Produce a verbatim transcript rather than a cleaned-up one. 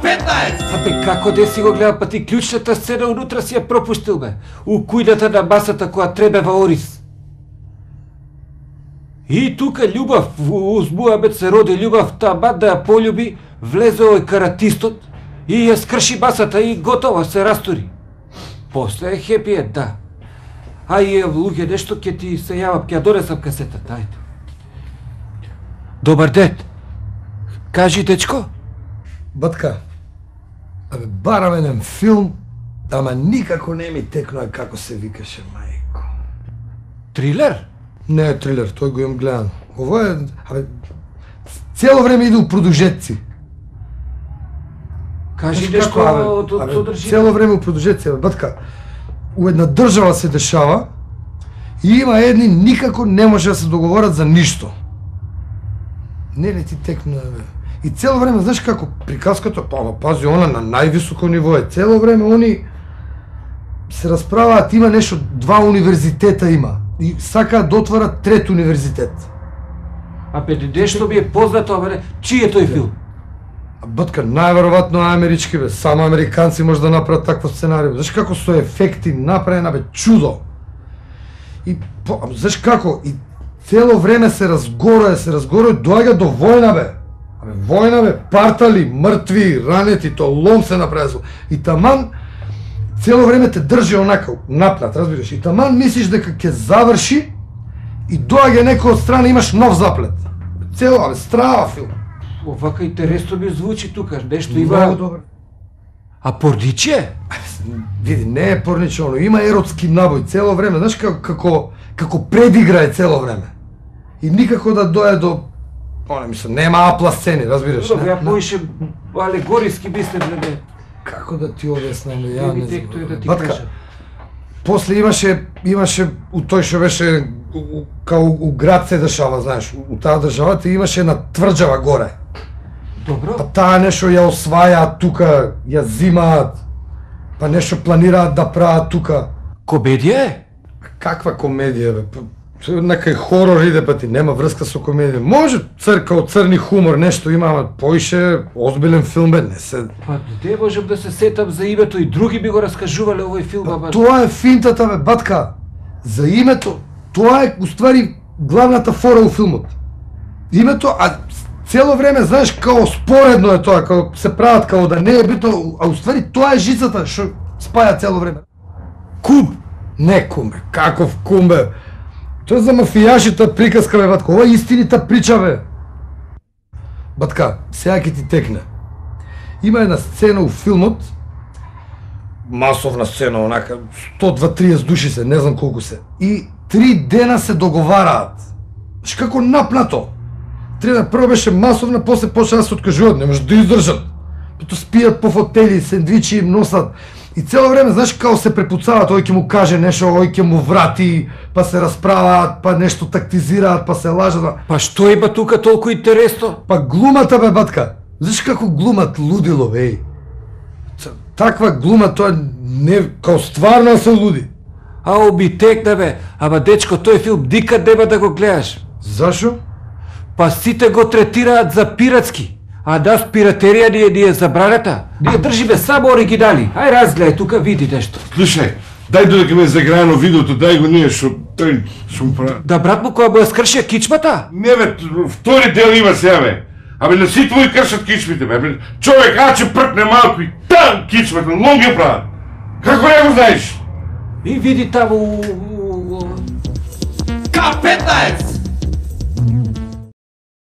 петнаесет! Абе, како де си го гледа, па ти клучната сцена унутра си ја пропуштил, бе. У кујната на масата која требева Орис. И тука љубав, уз Муамед се роди љубав, таман да ја полюби, влезе овој каратистот и ја скрши масата и готово се растури. После е хепи ед, да. А и луѓе, нешто ќе ти се јавам, ќе ја донесам касетата, ајде. Добар ден. Кажи, дечко. Батка, абе, барам еден филм, ама никако не ми текнува како се викаше, мајко. Трилер? Не е трилер, тој го имам гледан. Ово е, абе, цело време иде у продужетци. Кажи нешто од содржина. Цело време у продужетци, абе, батка. У една држава се дешава и има едни никако не може да се договорат за ништо. Не ли ти текнува, бе? И цело време, знаеш како, приказката, па, пази, она на највисоко ниво е. Цело време они се расправаат, има нешто, два универзитета има. И сакаат да отварат трет универзитет. Абе, нешто ми е познато, бе, чиј е тој филм? Батка, најверојатно амерички, бе. Само американци може да направат такво сценарио. Знаеш како со ефекти направена, бе, чудо. И, по, знаеш како, и цело време се разгорува, се разгорува, доаѓа до војна, бе. Абе, војна, бе, партали, мртви, ранети, то лом се направи. И таман, цело време те држи онака, напнат, разбираш. И таман мислиш дека ќе заврши и доаѓа некој од страна, имаш нов заплет. Цело, абе, страва филм. Овака интересно ми звучи тука, нешто има... Много добро. А порниче? Види, не е порниче, оно, има еротски набој цело време, знаеш како, како, како предиграе цело време. И никако да дојде до... Оне, мислам, нема апла сцени, разбираш? Добро, ја поише алегориски мислев, не. Како да ти објаснам, ја Не не би знам. текто да ти Батка, кажа. после имаше, имаше, у тој што беше, у- као у град се дешава, знаеш, у таа државата имаше една тврџава горе. Добро. Па таа нешто ја освајаат тука, ја зимаат, па нешто планираат да прават тука. Комедија е? Каква комедија, бе? Па, некај хорор иде, па ти нема врска со комедија. Може црка од црни хумор, нешто има, ама поише озбилен филм, бе, не се... Па не можам да се сетам за името и други би го раскажувале овој филм, ама... Тоа е финтата, бе, батка. За името, тоа е, уствари, главната фора у филмот. Името, а цело време, знаеш, као споредно е тоа, као се прават као да не е битно, а уствари тоа е жицата што спаја цело време. Кум! Не кум, бе, каков кум, бе. Тоа е за мафијашите приказка, бе, батка. Ова е истинита прича, бе. Батка, сега ќе ти текне. Има една сцена у филмот, масовна сцена, онака, сто до триесет души се, не знам колку се. И три дена се договараат. Знаеш како напнато. Три дена прво беше масовна, после почна да се откажуваат, не може да издржат. Пото спијат по фотели, сендвичи им носат. И цело време, знаеш, као се препуцаваат, ој ќе му каже нешто, ој ќе му врати, па се расправаат, па нешто тактизираат, па се лажат. Па што има тука толку интересно? Па глумата, бе, батка. Знаеш како глумат лудило, бе, еј. Таква глума, тоа не, као стварно се луди. А оби текна, бе, ама дечко, тој филм никад нема да го гледаш. Зашо? Па сите го третираат за пиратски. А нас пиратерија ни е, ни е забранета. Ние држиме само оригинали. Ај разгледај тука, види нешто. Слушај, дај додека ме заграено видеото, дај го ние што тој што му прави. Да брат му која му ја скршија кичмата? Не бе, втори дел има сега бе. Абе на сите твои кршат кичмите бе. Абе, човек аче пркне малку и там кичмата, лом ги прават. Како не го знаеш? И види таму... К петнаесет!